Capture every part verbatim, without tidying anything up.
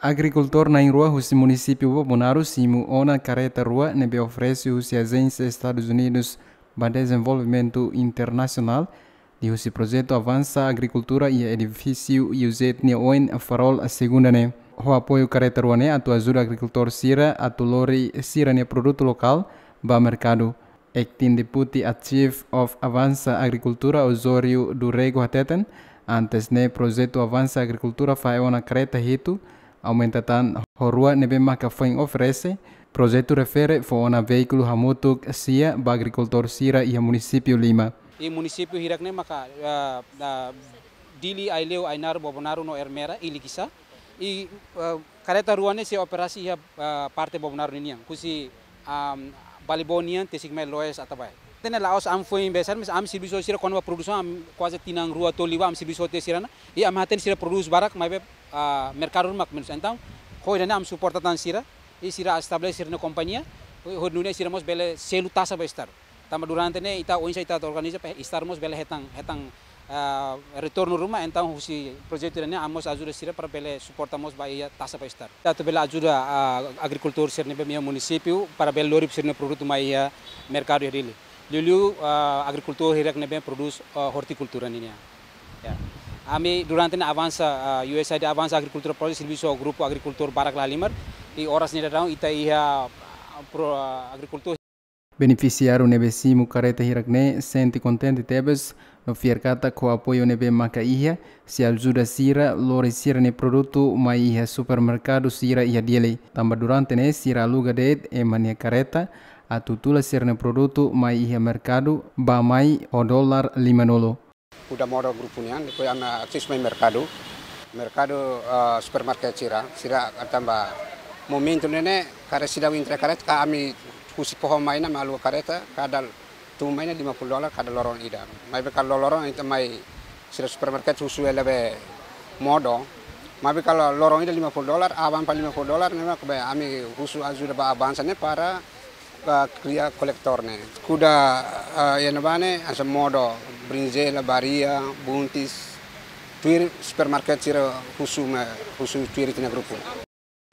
Agrikultór na'in-rua husi munisípiu Bobonaro simu ona kareta rua ne'ebé oferese husi Ajénsia Estadus Unidus ba Dezenvolvimentu Internasionál, liuhusi projetu Avansa Agrikultura iha edifísiu UZ nia oin Farol Segunda ne'e. Ho apoiu kareta rua ne'e atu ajuda agrikultór sira atu lori sira-nia produtu lokál ba merkadu. Acting Deputy Chief of Avansa Agrikultura Osório do Rego hateten, antes ne'e projetu Avansa Agrikultura fahe ona kareta hitu, aumenta tan ho rua ne'ebé maka foin oferese, projetu refere fó ona veíkulu hamutuk sia ba agrikultór sira iha munisípiu lima. I munisípiu hirak ne'e maka, ah, ah, Dili, Aileu, Ainaro, Bobonaro no Ermera, i Likisá. I, ah, kareta rua ne'e sei operasi iha, ah, parte Bobonaro ninian. Husi, ah, Balibó nian, tesik mai Loes Atabae. Tenke la'ós ami foin besar, mas ami servisu sira kona-ba produsaun, ami kuaze tinan rua tolu liubá ami servisu tiha sira-nian. I ami hatene sira prodús barak, maibé, ah, merkadu mak menus. Entaun, ho ida-ne'e ami suporta tan sira, i sira estabelese sira-nia kompañia, ho, ho nune'e sira mós bele selu taxa ba Estadu. Tanba durante ne'e ita oinsá ita organiza para Estadu mós bele hetan, hetan, ah, retornu ruma, entaun husi projetu ida-ne'e ami mós ajuda sira para bele suporta mós ba iha taxa ba Estadu. Atu bele ajuda, ah, agrikultór sira ne'ebé iha munisípiu para bele lori sira-nia produtu mai iha merkadu iha Dili. Liuliu, ah, agrikultór hirak ne'ebé prodús, ah, ortikultura ninian. Ya. Ami durante ne'e Avansa, ah, USAID Avansa Agrikultura Project servisu ho grupu agrikultór barak lahalimar, i oras ne'e daudaun ita iha, ah, pro, ah, agrikultór. Benefisiáriu ne'ebé simu kareta hirak ne'e sente kontente tebes no fiar katak ho apoiu ne'ebé maka iha, sei ajuda sira lori sira-nia produtu mai iha supermerkadu sira iha Dili. Tanba durante ne'e sira aluga de'it ema nia kareta, atu tula sira-nia produtu mai iha merkadu ba mai ho dolar lima-nulu. Kuda modo grupu nian, depois ami akses mai merkadu. Merkadu, ah, supermarket sira, sira tanba momentu ne'e ne'e, kada seidauk entrega kareta, ka ami husi foho mai ona, ami aluga kareta, kada tun mai ne'e lima puluh dolar, kada loron ida. Maibé ka loroloron ita mai sira supermarket husu hela be modo. Maibé ka loron ida lima puluh dolar, aban para lima puluh dolar, ne'e mak be ami husu ajuda ba Avansa ne'e para ba kria kolektór ne'e. Kuda, ah, iha ne'ebá ne'e, hanesan modo, brinjela, baria, buntis, tuir supermarket sira husu mai, husu tuir ita-nia grupu.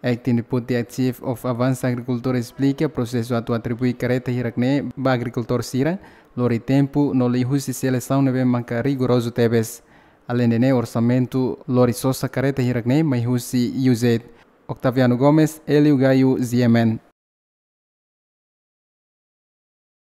Acting Deputy Chief of Avansa Agrikultura esplika prosesu atu atribui kareta hirak ne'e ba agrikultór sira, lori tempu, no liuhusi selesaun ne'ebé maka rigorozu tebes. Aleinde ne'e orsamentu lori sosa kareta hirak ne'e mai husi USAID. Octaviano Gomes, Hélio Gaio, G M N.